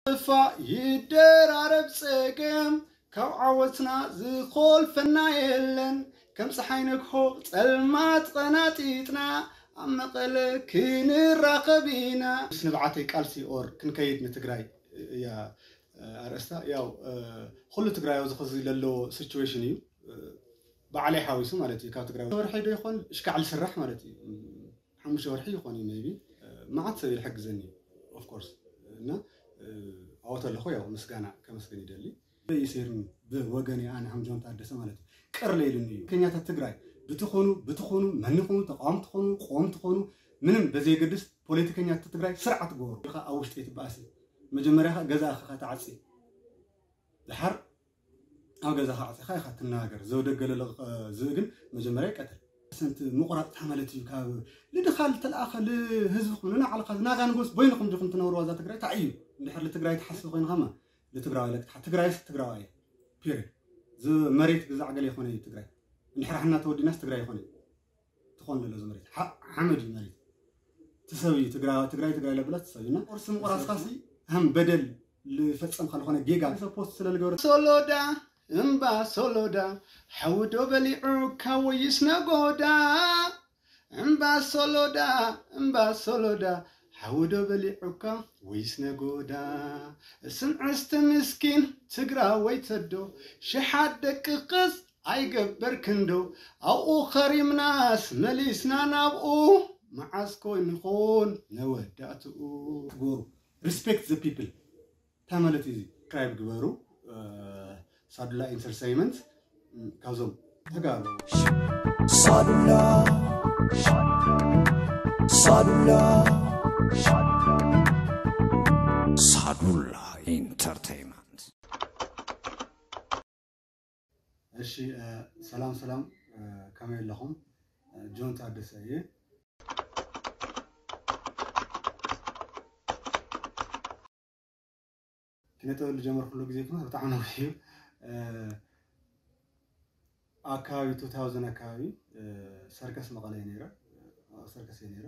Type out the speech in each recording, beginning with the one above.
ጥፋእ ይደራረብ ጸገም፣ ካብ ዓወትና ዝኾልፈና የለን። ከም ፀሓይ ነግሆ ጸልማት ቀናጢጥና፣ ኣብ መቐለ ክንራኸብ ኢና። ምስ ንብዓተይ ቃልሲ ኦር ክንከይድ ንትግራይ እያ ኣርእስታ። ያው ኩሉ ትግራይ ኣብዚ ኸዚ ለሎ ሲቹዌሽን እዩ፣ ባዕለይ ሓዊሱ ማለት እዩ። ካብ ትግራይ ወርሒ ዶ ይኾን እሽካዕ ዝስራሕ ማለት እዩ። ሓሙሽተ ወርሒ ይኾን እዩ ሜቢ። መዓት ሰብ ይሕግዘኒ ኦፍኮርስ። እና ኣወት ኣለኹ፣ ያው ምስጋና ከመስግን ይደሊ። ይሴርኒ ብወገን ኣነ ሓምጆን ታደሰ ማለት እዩ። ቅር ለይልኒ እዩ። ከኛታት ትግራይ ብትኾኑ ብትኾኑ መን ይኾኑ፣ ተቃወምቲ ትኾኑ፣ ቆም ትኾኑ፣ ምንም በዘየገድስ ፖለቲከኛታት ትግራይ ስርዓት ግበሩ። ኢኻ ኣብ ውሽጢ ትበኣሲ፣ መጀመርያ ኸ ገዛ ኢኻ ተዓፂ። ድሓር ኣብ ገዛኻ ዓፂኻ ኢኻ ትነጋገር። ዘውደገ ለለቕ ዝእ ግን መጀመርያ ይቀትል። ሰንቲ ምቑራፅ እንታይ ማለት እዩ? ካብ ልድኻ ልተለኣኸ ልህዝብኹም ንናዕልኻ ዝናጋ ንጎስ በይንኹም ዲኹም ትነብርዋ እዛ ትግራይ? እንታይ እዩ? እንድሕር ልትግራይ ትሓስብ ኮይንኻማ ልትግራዋይ ለቅትሓ። ትግራይስ ትግራዋይ እያ። ፒሪድ። ዝመሬት ግዛዕ ገለ ይኾነ እዩ ትግራይ። እንድሕር ሓና ተወዲናስ ትግራይ ይኾነ እዩ። ትኾን ዘሎ ዝመሬት ሓ- ሓመድ እዩ መሬት። ትሰብ እዩ ትግራይ ትግራይ ትግራይ ለብላ ትሰብ እና ቁርሲ ምቑራስካሲ ከም በደል ልፈጸምካ ዝኾነ ጌጋ ሰብ ፖስት ስለ ልገብረ ሶሎዳ እምባ ሶሎዳ ሓውዶ በሊዑካ ወይስ ነጎዳ? እምባ ሶሎዳ እምባ ሶሎዳ ሓውዶ በሊዑካ ወይስ ነጎዳ? ስምዕስቲ ምስኪን ትግራወይ ተዶ ሽሓት ደቂ ቅስ ኣይገበር ክንዶ ኣብኡ ኸሪምናስ መሊስና ናብኡ መዓስ ኮን ንኾን ነወዳእትኡ። ግበሩ። Respect the people። እንታይ ማለት እዩ እዚ? ክራይብ ግበሩ። ሳዱላ ኢንተርተይመንት ካብዞም ተጋሩ ሳዱላ ሳዱላ ሳዱላ ኢንተርተይመንት። እሺ ሰላም ሰላም፣ ከመይ ኣለኹም? ጆን ታደሰ እየ። ኪነ ጥበብ ዝጀመርኩሉ ግዜ እኮ ብጣዕሚ ነዊሕ እዩ። ኣካባቢ two thousand ኣካባቢ ሰርከስ መቐለ እየ ነይረ። ሰርከስ እየ ነይረ።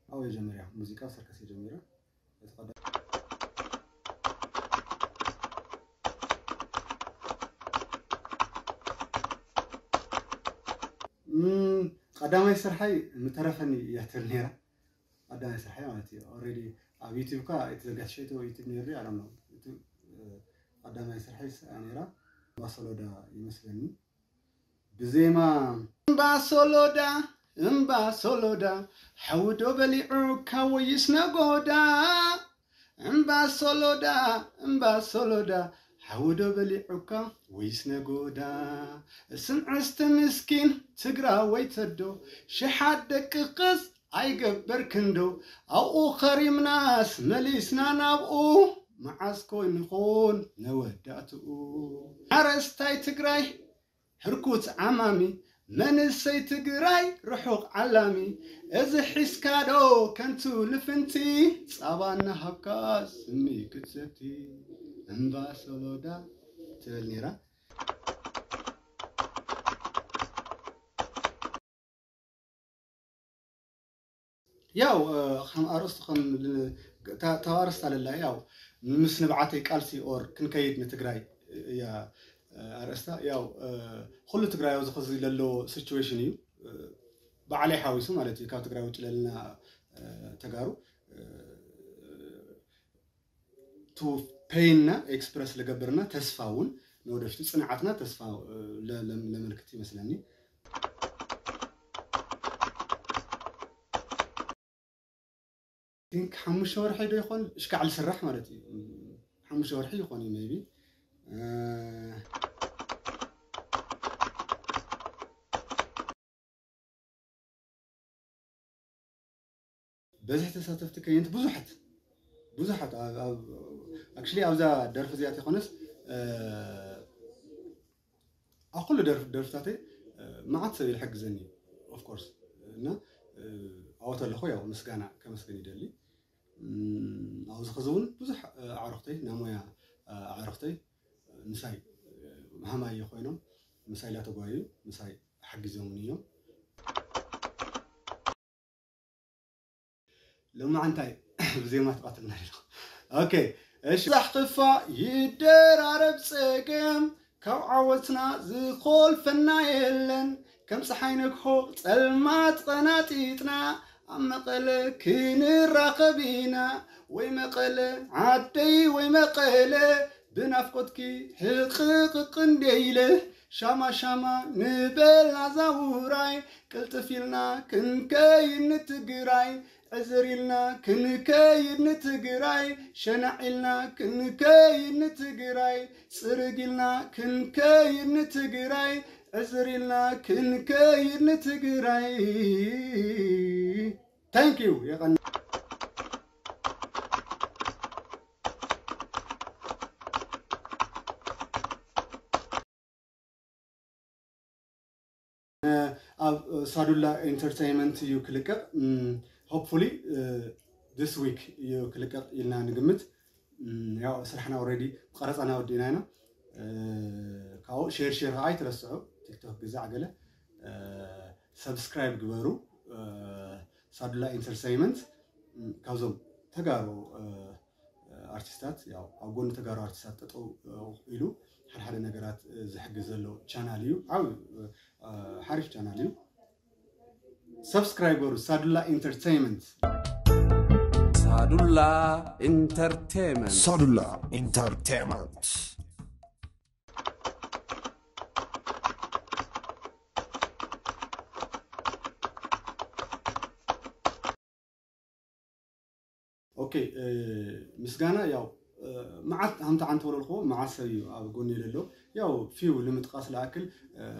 ኣብኡ እየ ጀሚረ፣ ሙዚቃ ሰርከስ እየ ጀሚረ። ቀዳማይ ስርሓይ ምተረፈኒ እያ ትብል ነይራ። ቀዳማይ ስርሓይ ማለት እዩ። ኦልሬዲ ኣብ ዩቲብ እኳ ኣይተዘጋጅሸ፣ እቲ ዩቲብ ነይሩ፣ ኣይ ዶንት ኖ። እቲ ቀዳማይ ስርሓይ ስኣ ነይራ። እምባ ሶሎዳ ይመስለኒ። ብዜማ እምባ ሶሎዳ፣ እምባ ሶሎዳ፣ ሓውዶ በሊዑካ ወይስ ነጎዳ? እምባ ሶሎዳ፣ እምባ ሶሎዳ፣ ሓውዶ በሊዑካ ወይስ ነጎዳ? ስምዕስቲ ምስኪን ትግራወይ ተዶ፣ ሽሓት ደቂ ቅስ ኣይገበር ክንዶ፣ ኣብኡ ኸሪምናስ መሊስና ናብኡ፣ መዓስ ኮን ንኾን ነወዳእትኡ። ሓረስታይ ትግራይ ሕርኩት ዓማሚ፣ መንእሰይ ትግራይ ርሑቕ ዓላሚ፣ እዚ ሒዝካዶ ከንቱ ልፍንቲ፣ ጻባ እናሃብካ ስሚ ክትሰቲ፣ እምባ ሶሎዳ ትብል ነይራ። ያው ከም ኣርእስቱ ከም ካብ ኣርእስታ ለላ ያው ምስ ንብዓተይ ቃልሲ ኦር ክንከይድ ንትግራይ እያ ኣርእስታ። ያው ኩሉ ትግራይ ኣብዚ ኸዚ ለሎ ሲቹዌሽን እዩ፣ ባዕለይ ሓዊሱ ማለት እዩ። ካብ ትግራይ ውጭ ለልና ተጋሩ ቱ ፔይንና ኤክስፕረስ ልገብርና ተስፋ እውን ንወደፊቱ ጽንዓትና ተስፋ ለመልክት ይመስለኒ። ቲንክ ሓሙሽተ ወርሒ ዶ ይኾን እሽካዕ ልስራሕ ማለት እዩ። ሓሙሽተ ወርሒ ይኾን እዩ ሜቢ። በዝሒ ተሳተፍቲ ከየንቲ ብዙሓት ብዙሓት ኣክቹሊ ኣብዛ ደርፊ እዚኣ ተይኮነስ ኣብ ኩሉ ደርፍታተይ መዓት ሰብ ይሕግዘኒ ኦፍኮርስ። እና ኣወት ኣለኹ ያው ምስጋና ከመስግን ይደሊ። ኣብዚ ኸዚ እውን ብዙሕ ኣዕሩኽተይ ናይ ሞያ ኣዕሩኽተይ ምሳይ ሃማየ ኮይኖም ምሳይ ላተጓዩ ምሳይ ሓጊዞምኒ እዮም። ሎማዓንታይ ብዜማ ትቐትልና ኣለኹ። ኦኬ፣ እሺ። ዛሕ ክፋ ይደራረብ ጸገም፣ ካብ ዓወትና ዝኾልፈና የለን። ከም ፀሓይ ነግሆ ጸልማት ቐናጢጥና፣ ኣብ መቐለ ክንራኸብ ኢና። ወይ መቐለ ዓደይ ወይ መቐለ፣ ብናፍቆትኪ ሕቕቕቕ እንደ ኢለ። ሻማ ሻማ ንበል ናዛ ውራይ፣ ቅልጥፍ ኢልና ክንከይድ ንትግራይ። ዕዝር ኢልና ክንከይድ ንትግራይ፣ ሸናዕ ኢልና ክንከይድ ንትግራይ፣ ጽርግ ኢልና ክንከይድ ንትግራይ፣ ዕዝር ኢልና ክንከይድ ንትግራይ። Thank you። የቐን ኣብ ሳዱላ ኢንተርቴይንመንት እዩ ክልቀቕ። Hopefully this week እዩ ክልቀቕ ኢልና ንግምት። ያው ስራሕና ኦልሬዲ ቀረፃና ወዲእና ኢና። ካብኡ ሼር ሼር ከዓ ኣይትረስዑ። ቲክቶክ ግዛዕ ገለ ሰብስክራይብ ግበሩ። ሳዱላ ኢንተርቴይንመንት ካብዞም ተጋሩ ኣርቲስታት፣ ያው ኣብ ጎኒ ተጋሩ ኣርቲስታት ጠጠው ኢሉ ሓደ ሓደ ነገራት ዝሕግዝ ዘሎ ቻናል እዩ። ዓብ ሓሪፍ ቻናል እዩ። ሰብስክራይብ በሩ። ሳዱላ ኢንተርቴይንመንት። ሳዱላ ኢንተርቴይንመንት። ሳዱላ ኢንተርቴይንመንት። ኦኬ፣ ምስጋና ያው መዓት ሃምታ ዓንተ ወለልኮ መዓት ሰብ እዩ ኣብ ጎኒ ለሎ። ያው ፊው ንምጥቃስ ለኣክል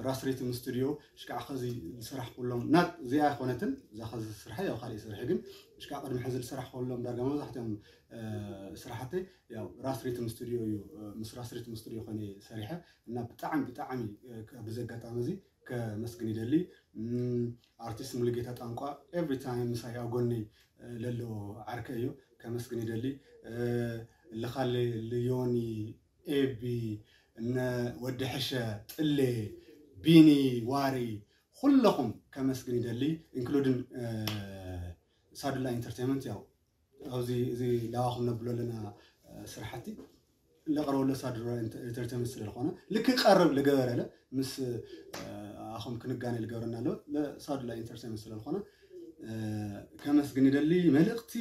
ራስ ሪትም ስቱዲዮ ሽካዕ ኸዚ ዝሰራሕ ኩሎም ናት እዚኣ ኣይኮነትን። እዛ ኸዚ ስራሕ ያው ካልእ ስራሕ ግን ሽካዕ ቅድሚ ሕዚ ዝሰራሕ ኩሎም ዳርጋ መብዛሕትኦም ስራሕተይ ያው ራስ ሪትም ስቱዲዮ እዩ። ምስ ራስ ሪትም ስቱዲዮ ኮነ ሰሪሐ እና ብጣዕሚ ብጣዕሚ ብዚ ኣጋጣሚ እዚ ከመስግን ይደሊ። ኣርቲስት ሙሉጌታ ጣንቋ ኤቭሪ ታይም ምሳይ ኣብ ጎነይ ለሎ ዓርከ እዩ። ከመስግን ይደሊ። ልኻለ ልዮኒ፣ ኤቢ፣ እነ ወዲ ሕሸ፣ ጥሌ፣ ቢኒ፣ ዋሪ፣ ኩለኹም ከመስግን ይደሊ። ኢንክሉድን ሳዱላ ኢንተርቴይንመንት ያው ኣብዚ እዚ ላዋኹም ነብሎ ኣለና ስራሕቲ ለቕረበሎ ሳዱላ ኢንተርቴይንመንት ስለ ዝኾነ ልክ ቀርብ ልገበረለ ምስ ኣኹም ክንጋነ ልገብረና ኣሎ ለሳዱላ ኢንተርቴይንመንት ስለ ዝኾነ ከመስግን ይደሊ። መልእኽቲ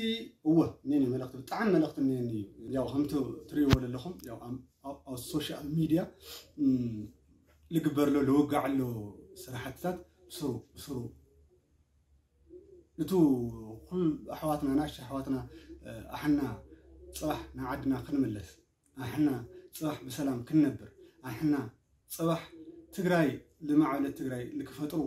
እወ እኔኒ መልእኽቲ ብጣዕሚ መልእኽቲ እኔኒ እዩ። ያው ከምቲ ትሪእዎ ዘለኹም ያው ኣብ ሶሻል ሚድያ ልግበር ኣሎ ልውጋዕ ኣሎ ስራሕትታት ብስሩ ብስሩ እቱ ኩሉ ኣሕዋትና ናሽ ኣሕዋትና ኣሕና ፅባሕ ንዓድና ክንምለስ ኣሕና ፅባሕ ብሰላም ክንነብር ኣሕና ፅባሕ ትግራይ ልማዕበለት ትግራይ ልክፈጥሩ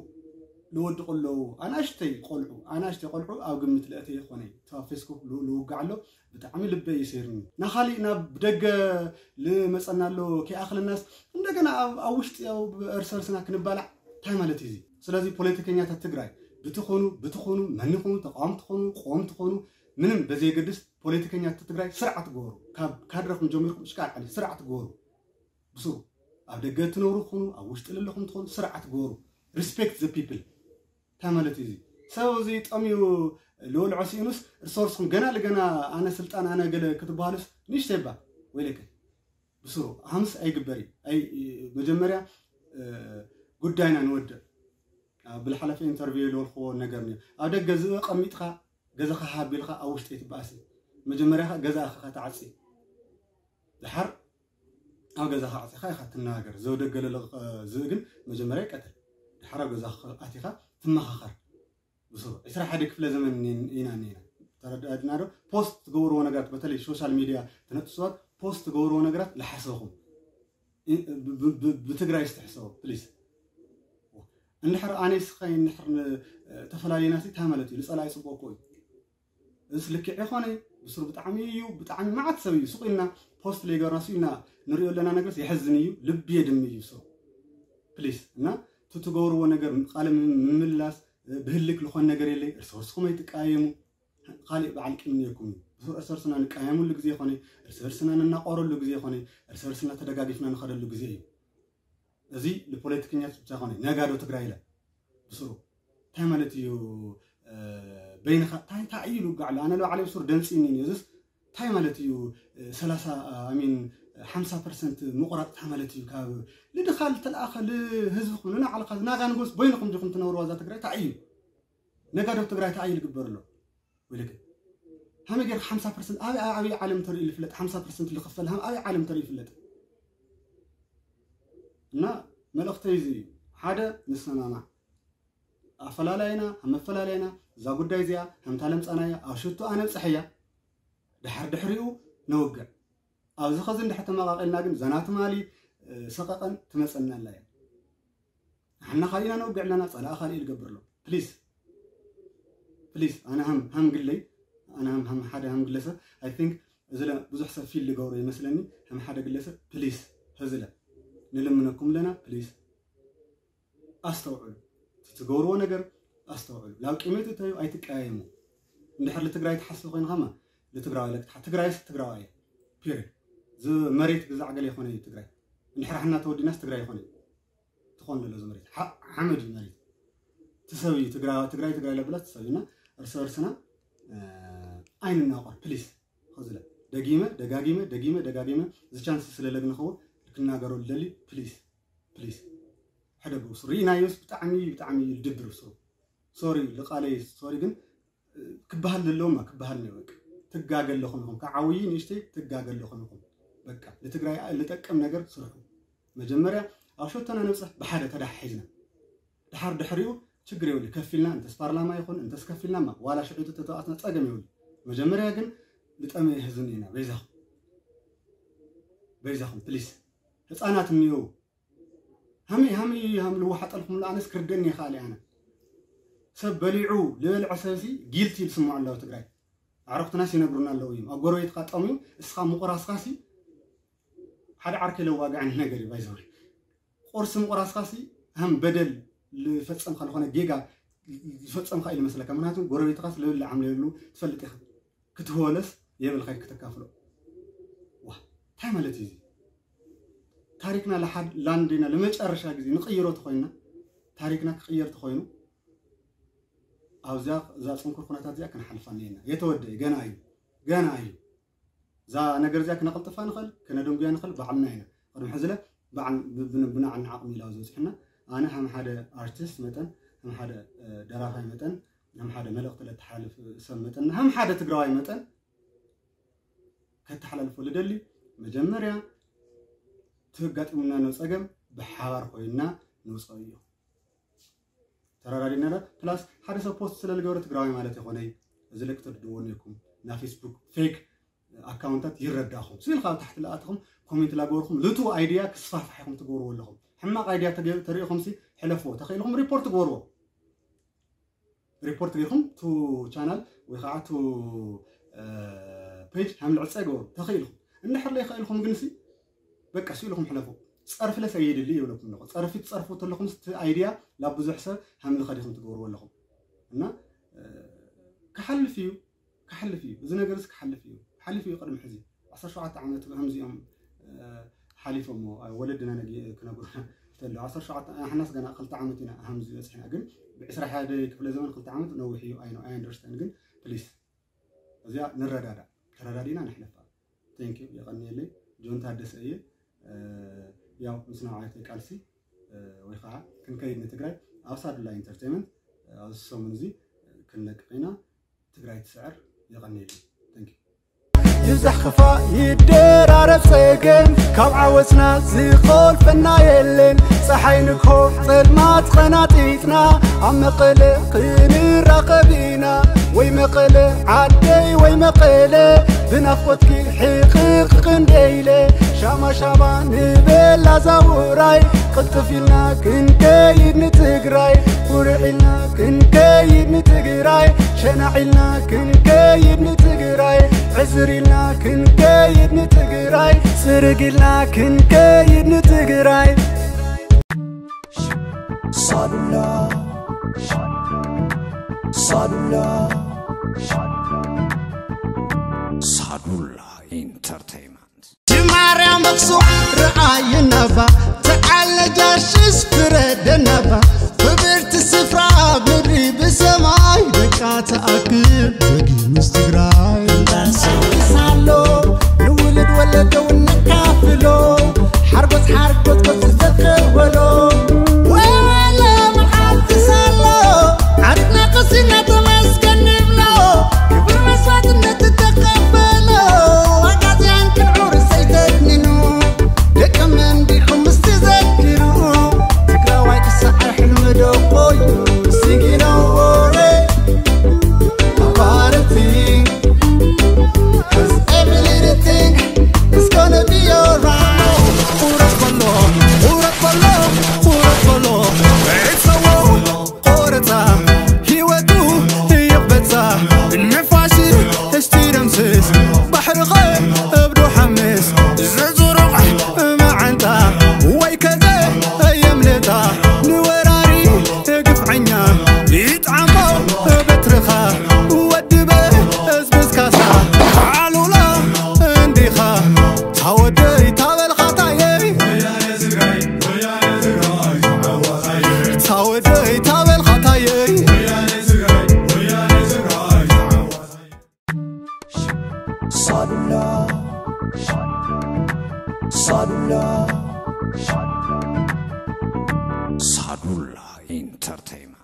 ልወድቁ ኣለዉ። ኣናሽተይ ቆልዑ ኣናሽተይ ቆልዑ ኣብ ግምት ለእተ ይኾነ ተብ ፌስቡክ ልውጋዕ ኣሎ። ብጣዕሚ ልበ ይሰይርኒ ናኻሊእ ናብ ደገ ልመፀና ኣሎ። ከይኣኽለናስ እንደገና ኣብ ውሽጢ እርስ እርስና ክንባላዕ እንታይ ማለት እዩ እዚ? ስለዚ ፖለቲከኛታት ትግራይ ብትኾኑ ብትኾኑ መን ይኾኑ ተቃወምቲ ትኾኑ ቆም ትኾኑ ምንም በዘየገድስ ፖለቲከኛታት ትግራይ ስርዓት ግበሩ። ካብ ካድረኹም ጀሚርኩም እሽካዕ ዓሊ ስርዓት ግበሩ። ብስሩ ኣብ ደገ እትነብሩ ትኾኑ ኣብ ውሽጢ ለለኹም ትኾኑ ስርዓት ግበሩ። Respect the people። እንታይ ማለት እዩ እዚ? ሰብ እዚ ጠምዩ ልወልዖ ስኢኑስ እርስ በርስኹም ገና ልገና ኣነ ስልጣን ኣነ ገለ ክትበሃሉስ ንእሽተይ እባ ወይለከ ብስሩ ሃምስ ኣይግበር እዩ። መጀመርያ ጉዳይና ንወድእ። ብልሓለፈ ኢንተርቪው ልበልክዎ ነገር ኒ ኣብ ደገ ዝእ ቀሚጥካ ገዛኻ ሃቢልካ ኣብ ውሽጢ ኣይትበኣሲ። መጀመርያ ገዛኻ ከተዓፂ ድሓር ኣብ ገዛኻ ዓፂኻ ኢኻ ትነጋገር። ዘውደገለለ ዝእ ግን መጀመርያ ይቀተል። ድሓር ኣብ ገዛኻ ኣቲኻ ትመኻኸር። ብስሩ ዕስራ ሓደ ክፍለ ዘመን ኢና እኒና ተረዳድና ዶ? ፖስት ትገብርዎ ነገራት በተለይ ሶሻል ሚድያ ትነጥሱ ሰባት ፖስት ትገብርዎ ነገራት ልሓሰኹም። ብትግራይ ዝተሕሰቡ ፕሊስ። እንድሕር ኣነይ ስኸይ እንድሕር ተፈላለዩና ሲ እንታይ ማለት እዩ? ንፀላኢ ፅቡቅ እኮ እዩ። እስ ልክዕ ይኾነ ብስሩ ብጣዕሚ እዩ ብጣዕሚ መዓት ሰብ እዩ ስቁ ኢልና ፖስት ለይገርና ሱ ኢና ንሪኦ ኣለና ነገርስ የሕዝን እዩ ልቢ የድም እዩ። ሶ ፕሊስ እና ትትገብርዎ ነገር ቃለ ምምላስ ብህልክ ልኾን ነገር የለይ። እርስ በርስኹም ኣይትቃየሙ። ካሊእ በዓል ቂም ነይርኩም እዩ። ብስሩ እርስ በርስና ንቃየሙሉ ግዜ ይኾነ እርስ በርስና ንናቆረሉ ግዜ ይኾነ እርስ በርስና ተደጋጊፍና ንኸደሉ ግዜ እዩ። እዚ ንፖለቲከኛት ብቻ ኮነ ነጋዶ ትግራይ ኢለ ብስሩ እንታይ ማለት እዩ? በይንኻ እንታይ እንታይ እዩ ልውጋዕ ኣሎ ኣነ ለባዕለ ብስሩ ደንፂኒ እዚስ እንታይ ማለት እዩ? ሰላሳ ኣሚን ሓምሳ ፐርሰንት ምቑራፅ እንታይ ማለት እዩ? ካብ ልድኻ ልተለኣኸ ልህዝብኹም ንናዕልኻ ዝናጋ ንጎስ ቦይንኹም ዲኹም ትነብርዋ እዛ ትግራይ እንታይ እዩ? ነጋዶ ትግራይ እንታይ እዩ ዝግበር ኣሎ? ወይልክ ሃመ ጌርካ ሓምሳ ፐርሰንት ኣበይ ኣበይ ዓለም ተርእዩ ይፍለጥ? ሓምሳ ፐርሰንት ዝኽፈል ሃም ኣበይ ዓለም ተርእዩ ይፍለጥ? እና መልእኽተይ እዚ እዩ። ሓደ ንሰማማዕ ኣፈላላይና ኣብ መፈላለይና እዛ ጉዳይ እዚኣ ከምታ ለምፃናያ ኣብ ሽቶ ኣነብፅሐያ ድሓር ድሕሪኡ ነውግዕ ኣብዚ ኸዚ እንድሕር ተመቓቒልና ግን ዘና ትማሊ ሰቐቐን ትመፀና ኣላ እያ ንሕና ካሊእና ነውግዕ ኣለና ፀላእ ካሊእ ልገብር ኣሎ ፕሊስ ፕሊስ ኣነ ሃም ሃም ግለይ ኣነ ሃም ሃም ሓደ ሃም ግለሰብ I think እዚ ለ ብዙሕ ሰብ ፊል ልገብሮ ይመስለኒ ሃም ሓደ ግለሰብ ፕሊስ ህዝለ ንልምነኩም ኣለና ፕሊስ ኣስተውዕሉ ትትገብርዎ ነገር ኣስተውዕሉ ናብ ቂመት እተዩ ኣይትቀያየሙ እንድሕር ልትግራይ ትሓስብ ኮይንካማ ልትግራዋይ ለቅትሓ ትግራይስ ትግራዋይ እያ ፒሪድ እዚ መሬት ግዛዕ ገለ ይኮነ እዩ ትግራይ እንድሕር ሓና ተወዲናስ ትግራይ ይኮነ እዩ ትኾን ዘሎ እዚ መሬት ሓመድ እዩ መሬት ትሰብ እዩ ትግራይ ትግራይ ለብላ ትሰብ እና እርስ በርስና ኣይንናቆር ፕሊስ ኸዝለ ደጊመ ደጋጊመ ደጊመ ደጋጊመ እዚ ቻንስ ስለለግንኸው ክናገሮ ልደሊ ፕሊስ ፕሊስ ሕደጉ ስሩ ርኢናዮስ ብጣዕሚ ብጣዕሚ ልድብር ስሩ ሶሪ ልቃለይ ሶሪ ግን ክበሃል ዘለዎም ክበሃል ነው በቃ ትጋገ ኣለኹም ኢኹም ከዓውይ ንእሽተይ ትጋገ ኣለኹም ኢኹም በቃ ንትግራይ ልጠቅም ነገር ስርሑ መጀመርያ ኣብ ሸቶና ንብፅሕ ብሓደ ተዳሓሒዝና ድሓር ድሕሪኡ ችግር የብሉ ከፊልና እንተስ ፓርላማ ይኹን እንተስ ከፊልና ማ ዋላ ሽዒቱ ተተዋትና ፀገም የብሉ መጀመርያ ግን ልጠመየ ህዝብን ኢና በይዛኹም በይዛኹም ፕሊስ ህፃናት እኒው ሃመይ ሃመይ ሃም ልወሓጠልኩም ኣነስ ክርደኒ ይኽእል ኣነ ሰብ በሊዑ ልበልዐ ሰብሲ ጊልቲ ይስምዖ ኣለዎ ትግራይ ኣዕሩኽትናስ ይነግሩና ኣለዉ እዮም ኣብ ጎረቤትካ ጠምዩ እስኻ ምቑራስካሲ ሓደ ዓርከ ለዋግዐን ነገር እዩ ባይዘወይ ቁርሲ ምቑራስካሲ ሃም በደል ልፈጸምካ ዝኾነ ጌጋ ዝፈጸምካ እዩ ልመስለካ ምክንያቱ ጎረቤትካስ ልብል ዓምለሉ ትፈልጥ ኢኻ ክትህወለስ የብልካ ክትካፍሎ ዋ እንታይ ማለት እዩ ታሪክና ለሓድ ላንዴና ለመጨረሻ ግዜ ንቅይሮ ተኮይና ታሪክና ክቅየር ተኮይኑ ኣብዚያ እዛ ፅንኩር ኩነታት እዚኣ ክንሓልፋ ነየና የተወደ ገና እዩ ገና እዩ እዛ ነገር እዚኣ ክነቐልጥፋ ንኽእል ክነደንጉያ ንኽእል ባዕልና ኢና ቅድሚ ሕዝለ ብናዕና ዓቕሚ ኢላ ዝበፅሕና ኣነ ከም ሓደ ኣርቲስት መጠን ከም ሓደ ደራፋይ መጠን ከም ሓደ መልእኽቲ ለተሓላልፍ ሰብ መጠን ከም ሓደ ትግራዋይ መጠን ከተሓላልፎ ልደሊ መጀመርያ ትጋጢሙና ነው ፀገም ብሓባር ኮይንና ንውፀኦ እዩ ተራዳዲና ዳ ፕላስ ሓደ ሰብ ፖስት ስለ ልገብረ ትግራዋይ ማለት ይኮነይ እዚ ልክ ትርድዎ ነይኩም እና ፌስቡክ ፌክ ኣካውንታት ይረዳኹም ስኢልካ ኣብ ታሕቲ ለኣትኹም ኮሜንት ላገበርኩም ልቱ ኣይድያ ክስፋሕፋሕ ኢኹም ትገብርዎ ኣለኹም ሕማቕ ኣይድያ ተሪኢኹም ሲ ሕለፍዎ ተኽኢልኩም ሪፖርት ግበርዎ ሪፖርት ገይርኩም ቱ ቻናል ወይ ከዓ ቱ ፔጅ ሃም ልዕፀ ገበሩ ተኽኢልኩም እንድሕር ለይኽእልኩም ግን ሲ በቃ ስኢልኩም ሕለፉ ፀርፊ ለሰ የድሊ ይብለኩም ኣለኹ ፀርፊ ትፀርፉ ተለኹም ስቲ ኣይድያ ላብ ብዙሕ ሰብ ሃም ልኸዲኹም ትገብርዎ ኣለኹም እና ክሓልፍ እዩ ክሓልፍ እዩ እዚ ነገር ስ ክሓልፍ እዩ ሓሊፍ እዩ ቅድሚ ሕዚ ዓሰርተ ሸውዓተ ዓመት ከምዚኦም ሓሊፎሞ ወለድና ክነግሩና ተሎ ዓሰርተ ሸውዓተ ሓናስ ገና ክልተ ዓመት ኢና ሃምዚ በፅሕና ግን ብዕስራ ሓደ ክፍለ ዘመን ክልተ ዓመት ነዊሕ እዩ ኣይ ኣንደርስታንድ ግን ፕሊስ እዚኣ ንረዳዳ ተረዳዲና ንሕለፋ ቴንክ ዩ የቐንየለይ ጆን ታደሰ እየ ያው ምስ ነብዓይተይ ቃልሲ ወይ ከዓ ክንከይድ ንትግራይ ኣብ ሳዱላ ኢንተርቴንመንት ኣብዚ ሰሙን እዚ ክንለቅቕ ኢና ትግራይ ትስዕር የቐንየለይ ቴንክ ዩ ይብዛሕ ክፋእ ይደራረብ ጸገም ካብ ዓወትና ዝኾልፈና የለን ፀሓይ ንግሆ ጸልማት ቐናጢጥና ኣብ መቐለ ክንራኸብ ኢና ወይ መቐለ ዓደይ ወይ መቐለ ብናፍቆትኪ ሕቕቕ ክንደይለ ሻማ ሻማ ንበላ ዛውራይ ቅልጥፍ ኢልና ክንከይድ ንትግራይ ኩርዕ ኢልና ክንከይድ ንትግራይ ሸናዕ ኢልና ክንከይድ ንትግራይ ዕዝር ኢልና ክንከይድ ንትግራይ ፅርግ ኢልና ክንከይድ ንትግራይ ሳዱላ ሳዱላ ሳዱላ ኢንተርቴይመንት ማርያም ኣኽሱም ረኣይናባ ተዓለጃሽስ ፍረደናባ ክብርቲ ስፍራ ምድሪ ብሰማይ ደቃ ተኣክል በጊ ምስ ትግራይ እንዳሰዊሳሎ ታወደይ ታበል ኻታየይ ሳዱላ ሳዱላ ሳዱላ ኢንተርቴይንመንት።